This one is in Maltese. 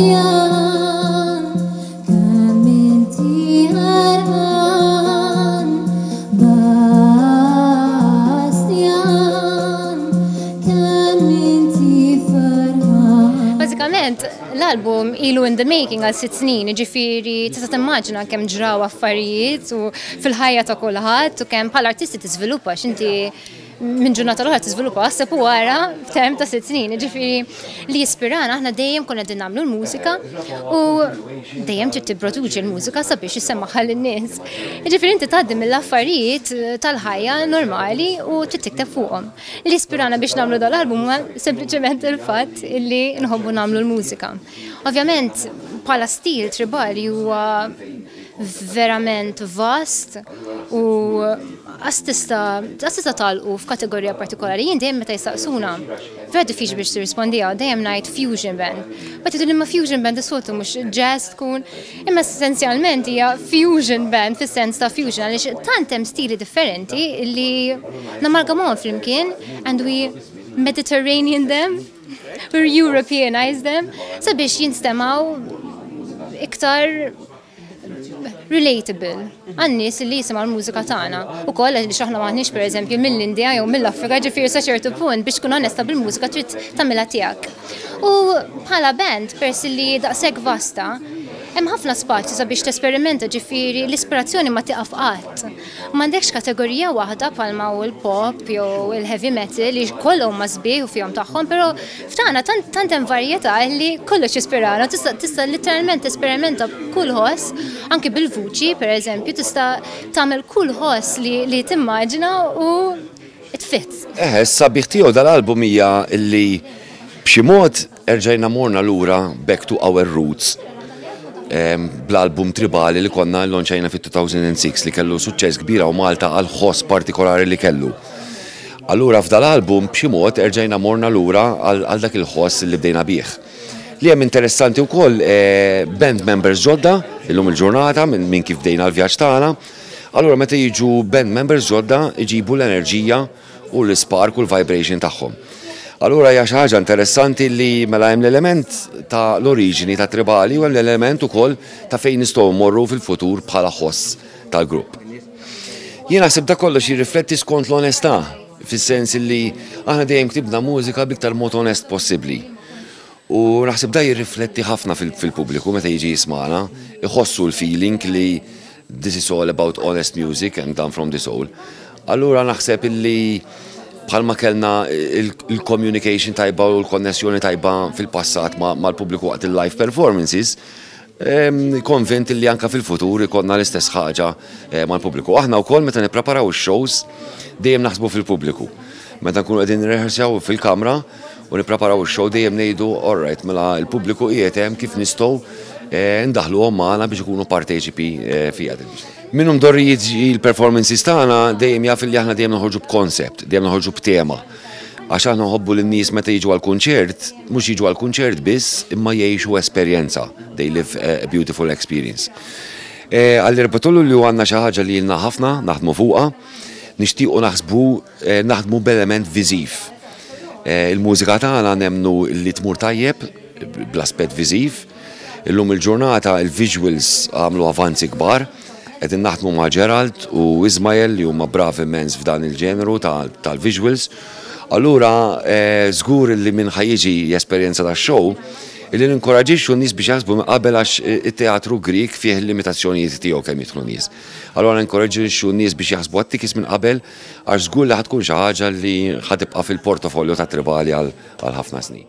Bastjan, kemm inti għarqan, Bastjan, kemm inti ferħan. Bażikament, l-album ilu in the making għal 6 snin, ġifieri tista' timmaġina kemm ġraw affarijiet u fil-ħajja ta' kulħadd u kemm bħala artisti tiżviluppa x'inti minn ġurnata l-oħra tiżviluppa aħseb u wara f'term ta' 6 snin. Ġifieri li jispirana, aħna dejjem konna qegħdin nagħmlu l-mużika u dejjem trid tipproduċi l-mużika sabiex issemmagħha lin-nies. Ġifieri inti tgħaddi mill-affarijiet tal-ħajja normali u trid tikteb fuqhom. Li jispirana biex nagħmlu dal-album huwa sempliċement il-fatt illi nħobbu nagħmlu l-mużika. Ovvjament, bħala stil Tribali huwa verament vast u għax tista' tagħlqu f'kategorija partikolari. Jien dejjem meta jistaqsuna, vera diffiċli biex tirrispondiha, dejjem ngħid fusion band. But jgħidu imma fusion band is-soltu mhux jazz tkun, imma essenzjalment hija fusion band fis-sens ta' fusion għaliex tant hemm stili differenti li namalgamhom flimkien and we Mediterranean them, we Europeanize them, sabiex jinstemaw iktar relatable għan-nies li jisimgħu l-mużika tagħna. Ukoll għaliex aħna m'aħniex, pereżempju, mill-Indja jew mill-Afrika, ġifieri sa ċertu punt biex tkun onesta bil-mużika trid tagħmilha tiegħek. U bħala band, peress li daqshekk vasta, hemm ħafna spazju sabiex tesperimenta, ġifieri l-ispirazzjoni ma tieqaf qatt. M'għandekx kategorija waħda bħalma hu l-pop jew il-heavy metal li kollha huma sbieħ u fihom tagħhom, però f'tagħna tant tant hemm varjetà li kollox jispirana. Tista' literalment tesperimenta b'kull ħoss, anke bil-vuċi, pereżempju, tista' tagħmel kull ħoss li timmaġina u it fits. Eħe, s-sabiħ tiegħu dal-album hija li b'xi mod erġajna morna lura back to our roots bl-album Tribali li konna launchajna fit-2006 li kellu suċċess kbira u Malta għal ħoss partikolari li kellu. Allura f'dal-album b'xi mod erġajna morna lura għal dak il-ħoss li bdejna bih. Li hemm interessanti wkoll band members ġodda illum il-ġurnata minn kif bdejna l-vjaġġ tagħna. Allura meta jiġu band members ġodda iġibu l-enerġija u l-spark u l-vibration tagħhom. Allura hija xi ħaġa interessanti li mela hemm l-element ta' l-oriġini ta' Tribali u hemm l-element ukoll ta' fejn nistgħu mmorru fil-futur bħala ħoss tal-grupp. Jien naħseb da kollox jirrifletti skont l-onestà, fis-sens li aħna dejjem ktibna mużika b'iktar mod onest possibbli. U naħseb da jirrifletti ħafna fil-pubbliku meta jiġi jismana, iħossu l-feeling li this is all about honest music and done from the soul. Allura naħseb illi bħalma kellna il-communication tajba u l-konnessjoni tajba fil-passat mal-pubbliku waqt il-live performances, konvint li anka fil-futur ikollna l-istess ħaġa mal-pubbliku. Aħna wkoll meta nippreparaw ix-shows dejjem naħsbu fil-pubbliku. Meta nkunu qegħdin nirrehearsaw fil-kamra u nippreparaw ix-show dejjem ngħidu, "All right, mela l-pubbliku qiegħed hemm, kif nistgħu ndaħluhom magħna biex ikunu parteċipi fiha?" Min hu mdorri jiġi l-performances tagħna dejjem jaf li aħna dejjem noħorġu b'concept, dejjem noħorġu b'tema. Għax aħna nħobbu lin-nies meta jiġu għal-kunċert, mhux jiġu għal-kunċert biss, imma jgħixu esperjenza. They live a beautiful experience. Għall-4 li għandna xi ħaġa li ilna ħafna naħdmu fuqha, nixtiequ naħsbu naħdmu b'element viżiv. Il-mużika tagħna nemnu li tmur tajjeb bl-aspett viżiv. Illum il-ġurnata il-visuals għamlu avanzi kbar. Qegħdin naħdmu ma' Gerald u Ismael li huma bravi immens f'dan il-ġeneru tal-visuals. Allura żgur li min ħa jiġi jesperjenza tax-show illi ninkoraġixxu n-nies biex jaħsbu minn qabel għax it-teatru Grieg fih il-limitazzjonijiet tiegħu kemm jidħlu nies. Allura ninkoraġixxu n-nies biex jaħsbu għat-tickets minn qabel għax żgur li ħa tkun xi ħaġa li ħa tibqa' fil-portofolio ta' Tribali għal ħafna snin.